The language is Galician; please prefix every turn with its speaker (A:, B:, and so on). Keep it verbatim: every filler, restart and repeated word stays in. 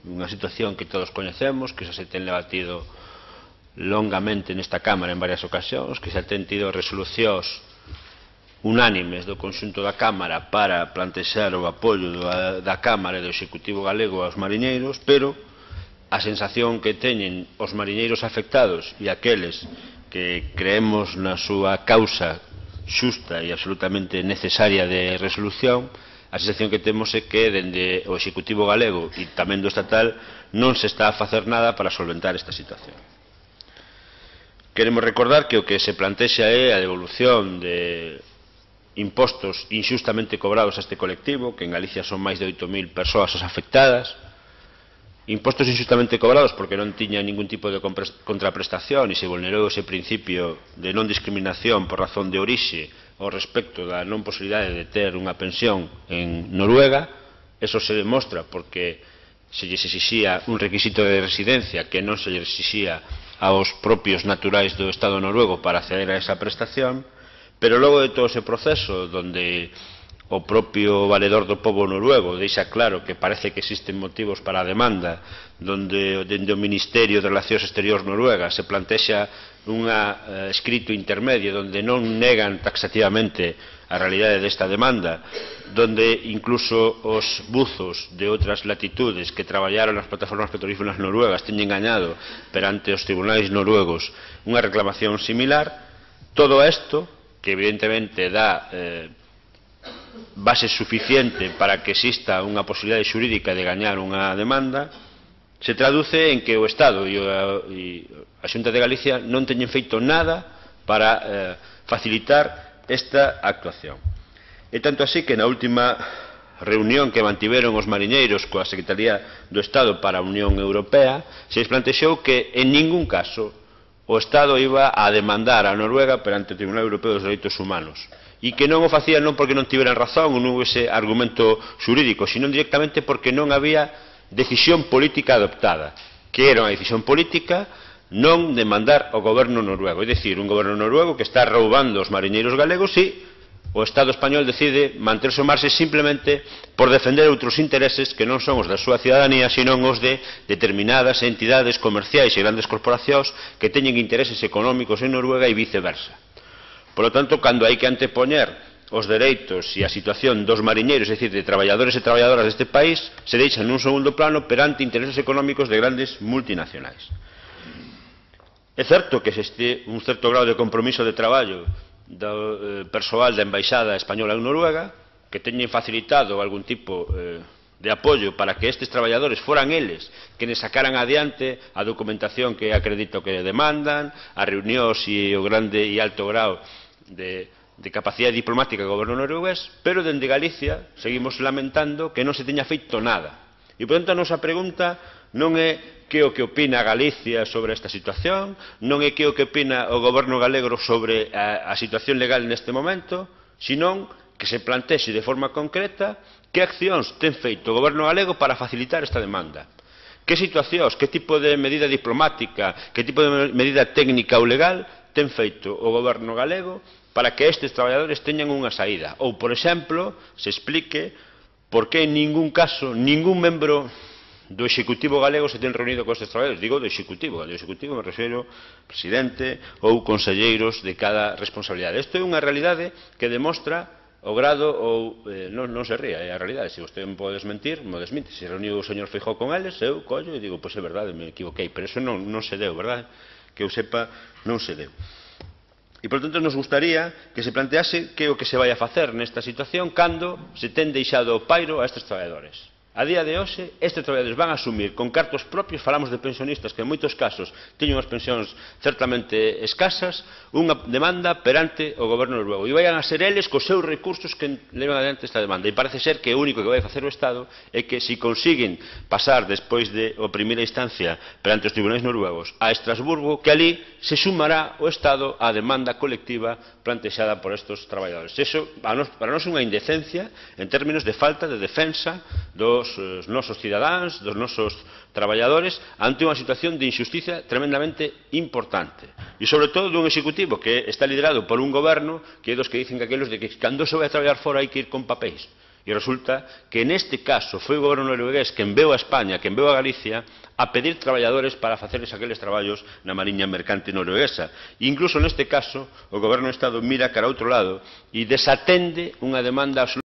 A: unha situación que todos coñecemos, que xa se ten debatido longamente nesta Cámara en varias ocasións, que xa ten tido resolucións unánimes do conxunto da Cámara para plantexar o apoio da, da Cámara e do Executivo galego aos mariñeiros, pero a sensación que teñen os mariñeiros afectados e aqueles que creemos na súa causa xusta e absolutamente necesaria de resolución, a sensación que temos é que dende o Executivo galego e tamén do estatal non se está a facer nada para solventar esta situación. Queremos recordar que o que se plantexa é a devolución de impostos inxustamente cobrados a este colectivo, que en Galicia son máis de oito mil persoas as afectadas, impostos inxustamente cobrados porque non tiña ningún tipo de contraprestación e se vulnerou ese principio de non discriminación por razón de orixe ao respecto da non posibilidade de ter unha pensión en Noruega. Eso se demostra porque se lles exixía un requisito de residencia que non se lles exixía aos propios naturais do Estado noruego para acceder a esa prestación. Pero logo de todo ese proceso, donde o propio valedor do pobo noruego deixa claro que parece que existen motivos para a demanda, donde dende o Ministerio de Relacións Exteriores noruega se plantexa un eh, escrito intermedio donde non negan taxativamente a realidade desta demanda, donde incluso os buzos de outras latitudes que traballaron nas plataformas petrolíferas noruegas teñen gañado perante os tribunais noruegos unha reclamación similar. Todo isto, que evidentemente dá eh, base suficiente para que exista unha posibilidade xurídica de gañar unha demanda, se traduce en que o Estado e a Xunta de Galicia non teñen feito nada para eh, facilitar esta actuación. E tanto así que na última reunión que mantiveron os mariñeiros coa Secretaría do Estado para a Unión Europea, se les plantexou que en ningún caso o Estado iba a demandar a Noruega perante o Tribunal Europeo dos Dereitos Humanos e que non o facían non porque non tiveran razón ou non houvese argumento xurídico, sino directamente porque non había decisión política adoptada, que era unha decisión política non demandar ao goberno noruego, é dicir, un goberno noruego que está roubando os mariñeiros galegos e o Estado español decide manterse ao marxe simplemente por defender outros intereses que non son os da súa cidadanía, sino os de determinadas entidades comerciais e grandes corporacións que teñen intereses económicos en Noruega e viceversa. Por lo tanto, cando hai que antepoñer os dereitos e a situación dos mariñeiros, é dicir, de traballadores e traballadoras deste país, se deixan nun segundo plano perante intereses económicos de grandes multinacionais. É certo que existe un certo grado de compromiso de traballo do persoal da Embaixada Española en Noruega, que teñen facilitado algún tipo eh, de apoio para que estes traballadores foran eles que ne sacaran adiante a documentación que acredito que demandan, as reunións e o grande e alto grau de, de capacidade diplomática do goberno noruegués, pero dende Galicia seguimos lamentando que non se teña feito nada. E, por tanto, a nosa pregunta non é que o que opina Galicia sobre esta situación, non é que o que opina o goberno galego sobre a, a situación legal neste momento, senón que se plantexe de forma concreta que accións ten feito o goberno galego para facilitar esta demanda. Que situacións, que tipo de medida diplomática, que tipo de medida técnica ou legal ten feito o goberno galego para que estes traballadores teñan unha saída. Ou, por exemplo, se explique por que en ningún caso, ningún membro do Executivo galego se ten reunido con estes traballadores. Digo do Executivo, do Executivo me refiro presidente ou conselleiros de cada responsabilidade. Isto é unha realidade que demostra o grado ou eh, non, non se ría, é a realidade. Se vostede me pode desmentir, me desmente. Se reuniu o señor Feijóo con eles, eu collo e digo, pois é verdade, me equivoquei, pero eso non, non se deu, verdade? Que eu sepa, non se deu. E, por tanto, nos gustaría que se plantease que o que se vai a facer nesta situación cando se ten deixado o pairo a estes traballadores. A día de hoxe, estes traballadores van a asumir con cartos propios, falamos de pensionistas que en moitos casos teñen unhas pensións certamente escasas, unha demanda perante o goberno noruego. E vayan a ser eles cos seus recursos que levan adiante esta demanda. E parece ser que o único que vai facer o Estado é que se consiguen pasar despois de a primeira instancia perante os tribunais noruegos a Estrasburgo, que ali se sumará o Estado á demanda colectiva plantexada por estes traballadores. Eso para nós é unha indecencia en términos de falta de defensa dos os nosos cidadáns, dos nosos traballadores, ante unha situación de injusticia tremendamente importante. E, sobre todo, dun executivo que está liderado por un goberno que é dos que dicen que aqueles de que cando se vai a traballar fora hai que ir con papéis. E resulta que neste caso foi o goberno noruegués que enviou a España, que enviou a Galicia, a pedir traballadores para facerles aqueles traballos na mariña mercante norueguesa. E incluso neste caso, o goberno do Estado mira cara a outro lado e desatende unha demanda absolutamente